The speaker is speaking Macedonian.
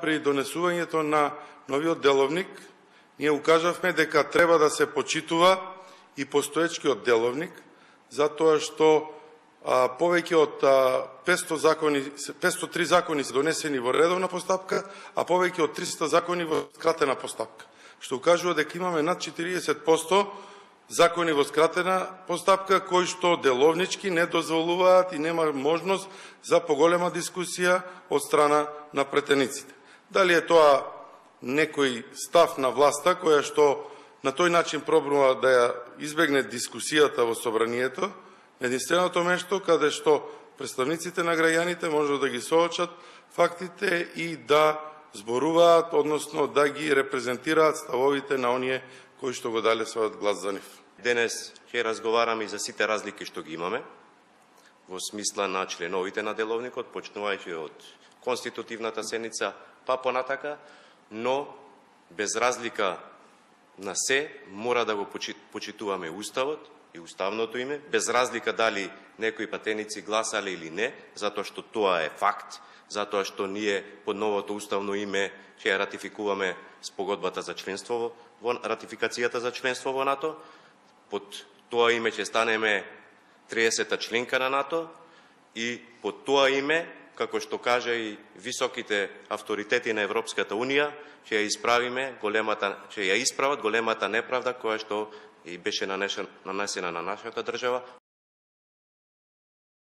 при донесувањето на новиот деловник, ние укажавме дека треба да се почитува и постоечкиот деловник, затоа што повеќе од 503 закони се донесени во редовна постапка, а повеќе од 300 закони во скратена постапка, што укажува дека имаме над 40% закони во скратена постапка, кои што деловнички не дозволуваат и нема можност за поголема дискусија од страна на претениците. Дали е тоа некој став на власта која што на тој начин пробува да ја избегне дискусијата во собранието, единственото место каде што представниците на граѓаните можат да ги соочат фактите и да зборуваат, односно да ги репрезентираат ставовите на оние кои што го дале својот глас за нив. Денес ќе разговараме и за сите разлики што ги имаме во смисла на членовите на деловникот, почнувајќи од конститутивната седница па понатака, но без разлика на се мора да го почитуваме Уставот и уставното име, без разлика дали некои патеници гласале или не, затоа што тоа е факт, затоа што ние под новото уставно име ќе ратификуваме спогодбата за членство во ратификацијата за членство во НАТО. Под тоа име ќе станеме 30-та членка на НАТО и под тоа име, како што кажа и високите авторитети на Европската Унија, ќе ја исправат големата неправда која што и беше нанесена на нашата држава,